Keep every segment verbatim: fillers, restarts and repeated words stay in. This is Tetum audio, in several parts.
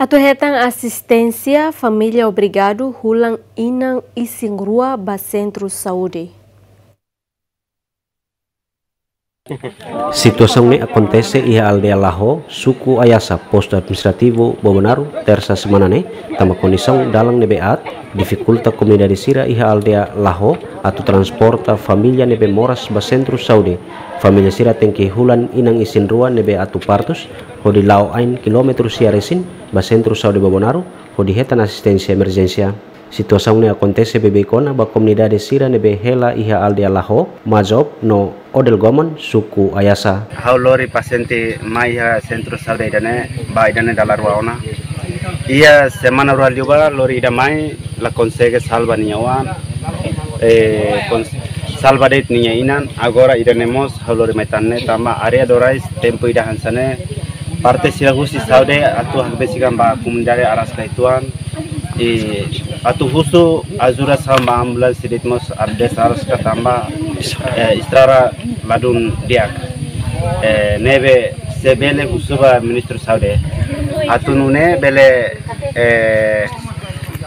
Atu hetan asisténsia, família obrigadu hulan inan isin-rua ba sentru saúde. Situasaun ne'e akontese iha aldeia Laho, suku Ayasa, postu administrativu Bobonaro, tersa semana ne'e, tanba kondisaun dalan ne'ebé aat, difikulta komunidade sira iha aldeia Laho atu transporta família ne'ebé moras ba sentru saúde. Família sira tenke hulan inan isin-rua ne'ebé atu partus, hodi la'o ain kilómetru sia resin ba sentru saúde Bobonaro, hodi hetan asisténsia emerjénsia. Situasaun ne'e akontese beibeik ona ba komunidade sira ne'ebé hela iha aldeia Laho, Mazob no Odelgomon, suku Ayasa. Ha'u lori pasiente mai iha sentru saúde ida-ne'e, ba ida-ne'e dala rua ona. Iha semana rua liubá lori ida mai la konsege salva nia oan. Eh, kons-, salva de'it nia inan, agora ida-ne'e mós ha'u lori mai tan ne'e tanba área Dorais tempu ida hanesan ne'e. Parte sira husi saúde atu hakbesik an ba komunidade araska uitoan. I atu husu ajuda hanesan ba ambulánsia de'it mós atu araska tanba, eh, estrada ladún di'ak. Eh, ne'ebé se bele husu ba Ministru Saúde atu nune'e bele, eh,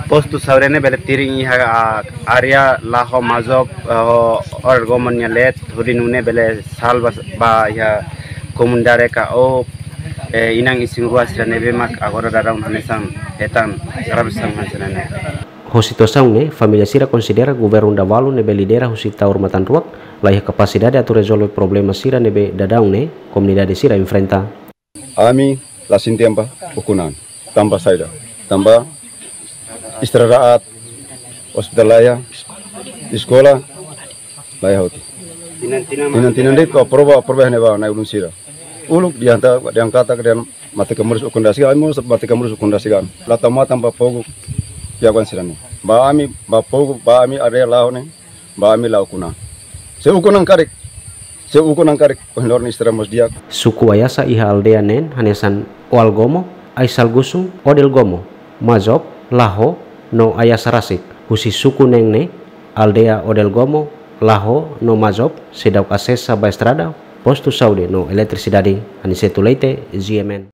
postu saúde ne'e bele tirin iha, ah, área Laho, Mazob, eh, Odelgomon nia leet, hodi nune'e bele salva ba iha komunidade ka o, eh, inan isin-rua sira ne'ebé mak agora daudaun hanesan hetan grave hanesan ne'e. Ho situasaun ne'e, família sira konsidera governu Davalu ne'ebé lidera husi Taur Matan Ruak, laiha kapasidade atu rezolve problema sira ne'ebé daudaun ne'e komunidade sira enfrenta. Ami la sente an ba ukun an. Tanba saida? Tanba estrada aat, ospitál laiha, eskola laiha hotu. Tinan-tinan de'it ba prova, prova ne'ebá na'i-ulun sira. Uluk dianta, dianta katak dian mate kamurus ukun dasi, ai murus mate kamurus ukun dasi kan. La tau matan ba pogu, ya kan sira ne'e. Ba ami, ba pogu, ba ami área Laho ne'e, ba ami la ukun an. Se ukun an karik, se ukun an karik, ohin loron estrada mós di'ak. Suku Ayasa iha aldeia neen hanesan Oalgomo, Aisalgusung, Odelgomo, Mazob, Laho, no Ayasa rasik. Husi suku neen ne'e, aldeia Odelgomo, Laho, no Mazob, seidauk asesa ba estrada, postu saúde, no eletrisidade. Aniceto Leite, G M N.